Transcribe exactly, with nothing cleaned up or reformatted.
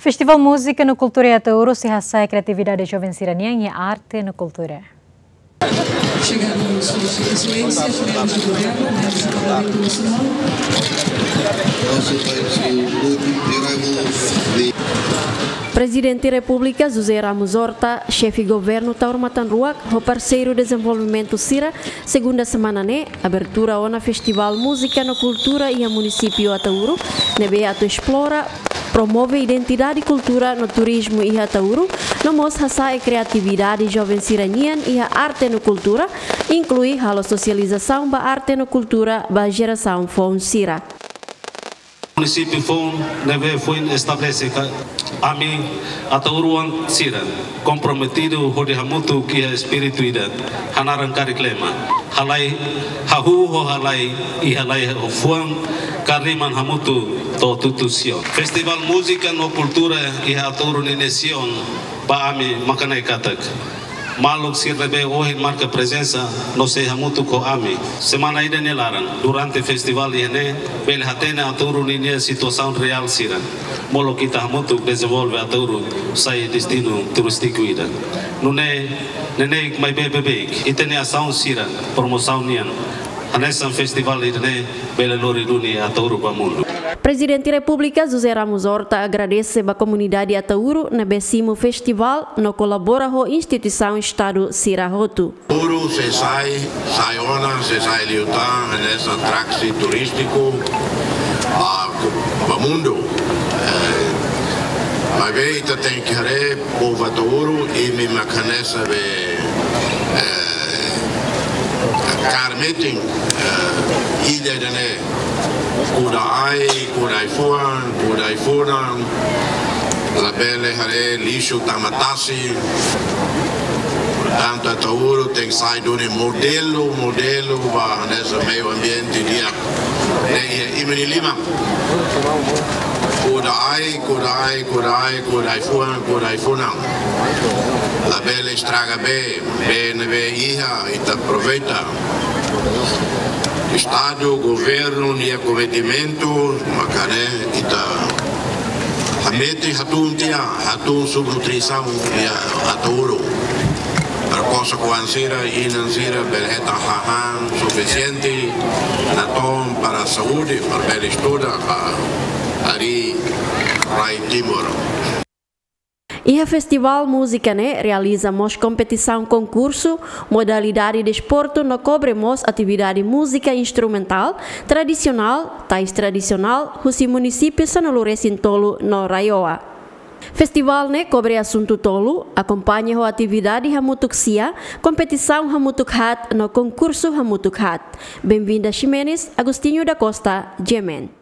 Festivál Múzika no Kultura iha Ataúru sei hasa'e kriatividade joven sira-nian iha arte no kultura. Chegada dos seus excelências, membros do governo, membros do Parlamento Nacional. Also thanks to all the arrivals, the Prezidente Repúblika José Ramos Horta, Xefe Governu Taur Matan Ruak, ho parseiru dezenvolvimentu sira, segunda semana ne'e, abertura ona Festivál Múzika no Kultura iha munisípiu Ataúru, ne'ebé atu esplora, promove identidade kultura no turizmu iha Ataúru, no mós hasa'e kriatividade joven sira-nian iha arte no kultura, inklui halo sosializasaun ba arte no kultura ba jerasaun foun sira. Munisípiu foun ne'ebé foin estabelese katak ami atauruan sira komprometidu hodi hamutuk iha espíritu ida hanaran karik lema: halai hahú ho halai, i halai ho fuan, karik liman hamutuk to'o tutusion. Festivál Múzika no Kultura iha Ataúru ninia sion ba ami mak ne'e katak maluk sira ne'ebé ohin marka prezensa no sei hamutuk ho ami semana ida nia laran durante festivál iha ne'e bele hatene Ataúru ninia situasaun reál sira. Molok ita hamutuk dezenvolve Ataúru sai destinu turístiku ida. Nune'e, neineik maibé beibeik, ita-nia asaun sira, promosaun nian, hanesan festivál ida-ne'e bele lori duni Ataúru ba mundu. Prezidente Repúblika José Ramos Horta agradese ba komunidade Ataúru ne'ebé simu festivál no kolabora ho instituisaun Estadu sira hotu. Ataúru sei sai, sai ona, sei sai liután hanesan atraksi turístiku ba, ba mundu. Eh, maibé ita tenke haree povu Ataúru, imi mak hanesan be, eh, kaer metin, eh, ida-ne'e. Kuda ai, kuda ai-fuan, kuda ai-funan. Labele haree lixu tama tasi. Portantu, Ataúru tenke sai duni modelu, modelu ba hanesan meiu ambiente di'ak ne'e iha imi-nia liman. Kuda ai, kuda ai, kuda ai, kuda ai-fuan, kuda ai-funan. Labele estraga bee, bee ne'ebé iha, ita aproveita. Estadu, governu nia kometimentu, mak ne'e ita hametin hatún tiha, hatún subnutrisaun iha Ataúru. Para kosok-oan sira, inan sira, bele hetan hahán sufisiente, natoon para saúde, para bele estuda, para harii rai Timor. Iha festivál múzika ne'e realiza mós kompetisaun konkursu, modalidade desportu no kobre mós atividade múzika instrumentál, tradisionál, tais tradisionál, husi munisípiu sanulu-resin-tolu no RAEOA. Festivál ne'e kobre asuntu tolu, akompaña ho atividade hamutuk sia, kompetisaun hamutuk haat no konkursu hamutuk haat. Benvinda Ximenes, Agostinho da Costa, G M N.